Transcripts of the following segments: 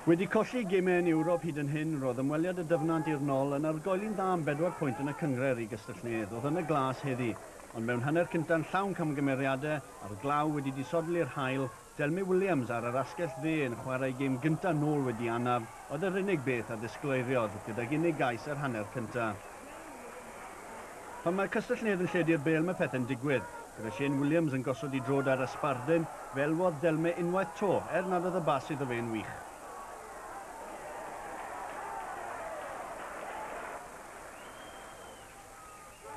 Wedi colli gemau yn Ewrop hyd yn hyn, roedd ymweliad y Dyfnant i'r Nol yn argoeli'n dda am 4 pwynt yn y cynghrair i Gastell-nedd. Oedd yn y glas heddi, ond mewn hanner cynta'n llawn camgymeriadau a'r glaw wedi disodli'r haul, Delme Williams ar yr asgell dde yn chwarae gêm gynta nôl wedi anaf oedd yr unig beth a ddisgleiriodd gydag unig gais yr hanner cynta. Pan mae Castell-nedd yn lledu'r bêl mae pethau'n digwydd. Gyda Shane Williams yn gosod i drod ar y sbardun, fe elwodd Delme unwaith 'to, er nad oedd y bas iddo fe'n wych.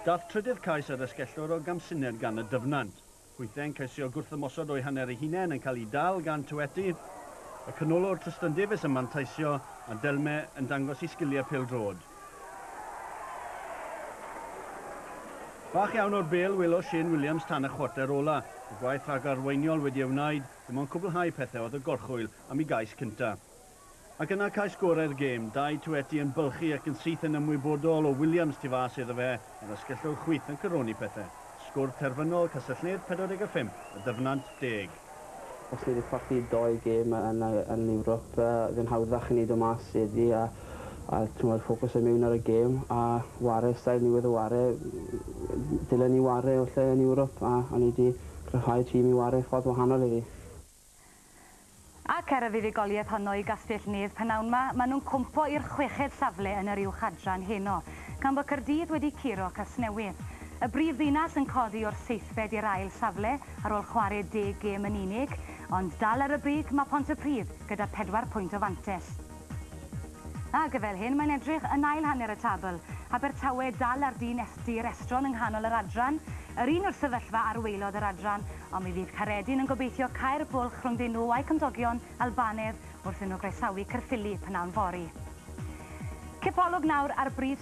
Dath trydydd cais ar asgellwr o gamsyniad gan y Dyfnant. Hwythau'n ceisio gwrthymosod o'u hanner eu hunain yn cael ei dal gan Tyweti. Y canolwr Tristan Davies yn manteisio a Delme yn dangos ei sgiliau pêl-droed. Bach iawn o'r bêl welodd Shane Williams tan y chwarter ola. Y gwaith rhagarweiniol wedi ei wneud, dim ond cwblhau pethau oedd y gorchwyl am ei gais cynta. Ac yna cais gorau'r gêm, Dai Tiueti yn bylchu ac yn syth yn ymwybodol o Williams tu fas iddo fe, yr asgellwr chwith yn coroni pethau. Sgôr terfynol, Castell-nedd 45, y Dyfnant 10. Os ni wedi colli dou gêm yn, yn Ewrop, fe'n hawddach i ni dod mas heddi a t'mod, ffocws yn mewn ar y gêm a ware style ni wedi ware, dylen ni ware o lle yn Ewrop a ni wedi cryfhau tîm i ware ffordd wahanol iddi. Ac er y fuddugoliaeth honno i Gastell-nedd pnawn 'ma, maen nhw'n cwmpo i'r chweched safle yn yr uwch adran heno, gan bod Caerdydd wedi curo Casnewydd. Y brif ddinas yn codi o'r seithfed i'r ail safle ar ôl chwarae 10 gêm yn unig, ond dal ar y brig mae Pontypridd gyda 4 pwynt o fantes. Ac fel hyn mae'n edrych yn ail hanner y tabl. Abertawe dal ar dyn dir estron yng nghanol yr adran, yr un o'r sefyllfa ar waelod yr adran, ond mi fydd Caeredin yn gobeithio cau'r bwlch rhwngddyn nhw a'u cymdogion Albanedd wrth iddyn nhw groesawu Caerffili pnawn fory. Cipolwg nawr ar brif